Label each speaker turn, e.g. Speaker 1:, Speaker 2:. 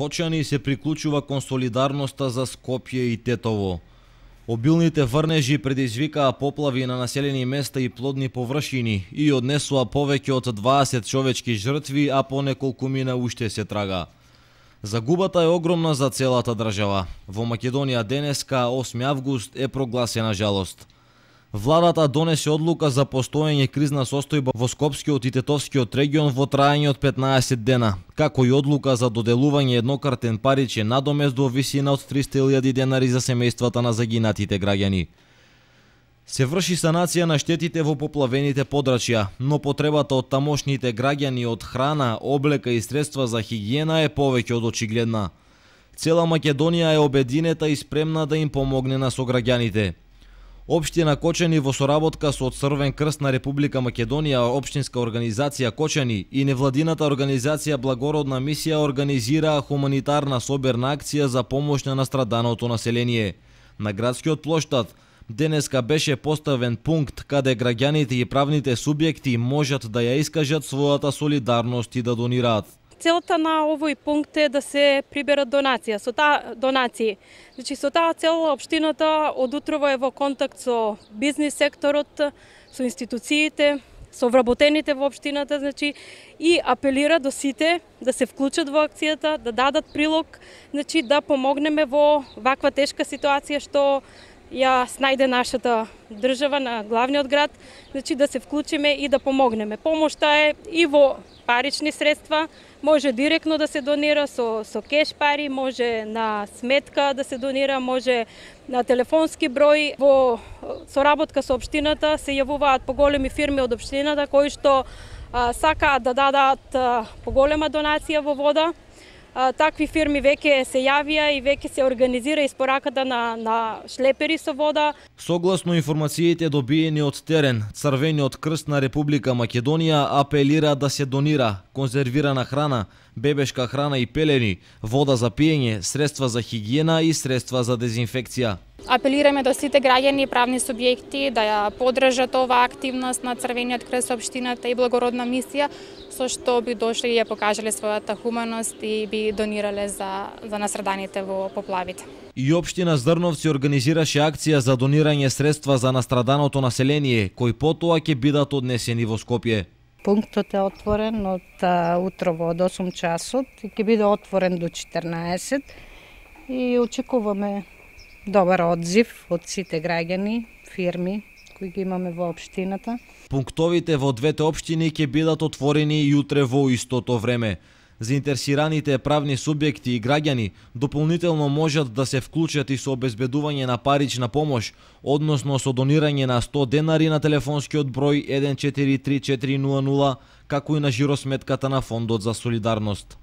Speaker 1: Кочани се приклучува кон солидарноста за Скопје и Тетово. Обилните врнежи предизвикаа поплави на населени места и плодни површини и однесуа повеќе од 20 човечки жртви, а по неколкумина уште се трага. Загубата е огромна за целата држава. Во Македонија денеска, 8 август, е прогласена жалост. Владата донесе одлука за постоење кризна состојба во Скопскиот и Тетовскиот регион во траење од 15 дена, како и одлука за доделување еднократен паричен надомест во висина од 300.000 денари за семејствата на загинатите граѓани. Се врши санација на штетите во поплавените подрачја, но потребата од тамошните граѓани од храна, облека и средства за хигиена е повеќе од очигледна. Цела Македонија е обединета и спремна да им помогне на сограѓаните. Општина Кочани во соработка со Црвен крст на Република Македонија, општинска организација Кочани и невладината организација Благородна мисија организираа хуманитарна соберна акција за помош на настраданото население. На градскиот плоштад денеска беше поставен пункт каде граѓаните и правните субјекти можат да ја искажат својата солидарност и да донираат.
Speaker 2: Целта на овој пункт е да се приберат донации. Со таа цел општината од утрово е во контакт со бизнис секторот, со институциите, со вработените во општината, и апелира до сите да се вклучат во акцијата, да дадат прилог, да помогнеме во ваква тешка ситуација што ја снајде нашата држава на главниот град, да се вклучиме и да помогнеме. Помошта е и во парични средства, може директно да се донира со кеш пари, може на сметка да се донира, може на телефонски број. Во соработка со општината се јавуваат поголеми фирми од општината кои што сакаат да дадат поголема донација во вода. Такви фирми веќе се јавија и веќе се организира испораката на шлепери со вода.
Speaker 1: Согласно информациите добиени од терен, Црвениот крст на Република Македонија апелира да се донира конзервирана храна, бебешка храна и пелени, вода за пиење, средства за хигиена и средства за дезинфекција.
Speaker 3: Апелираме до сите граѓани и правни субјекти да ја поддржат оваа активност на Црвениот крст, општината и Благородна мисија, со што би дошли и ја покажале својата хуманост и би донирале за настраданите во поплавите.
Speaker 1: И општина Зрновци организираше акција за донирање средства за настраданото население, кои потоа ќе бидат однесени во Скопје.
Speaker 4: Пунктот е отворен од утрово од 8 часот и ќе биде отворен до 14 и очекуваме добар одзив од сите граѓани, фирми кои ги имаме во општината.
Speaker 1: Пунктовите во двете општини ќе бидат отворени и утре во истото време. Заинтересираните правни субјекти и граѓани дополнително можат да се вклучат и со обезбедување на парична помош, односно со донирање на 100 денари на телефонскиот број 143400, како и на жиросметката на Фондот за солидарност.